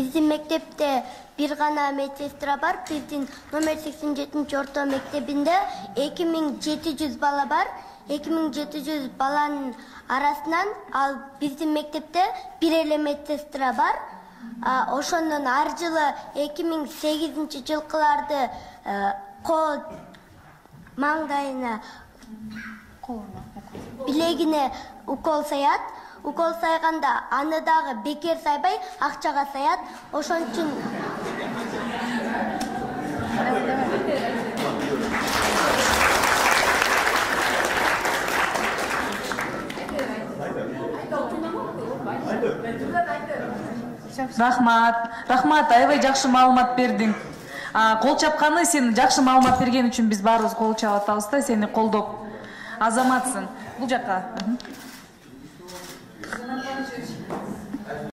Биздин мектепте бир гана медсестра бар. Биздин номер 87 орто мектебинде 2700 бала бар. 2700 баланын арасынан ал биздин мектепте бир эле медсестра бар. Ошондон ар жылы 2008-жылкыларды кол маңдайына билегине укол саят. Укол сайганда аны дагы бекер сайбай акчага саят. Ошон үчүн Рахмат, аябай жакшы маалымат бердиң. Кол чапканы сен жакшы маалымат берген үчүн биз баарыбыз кол чап атабыз да, сени колдоп. Азаматсың. Бул жакка.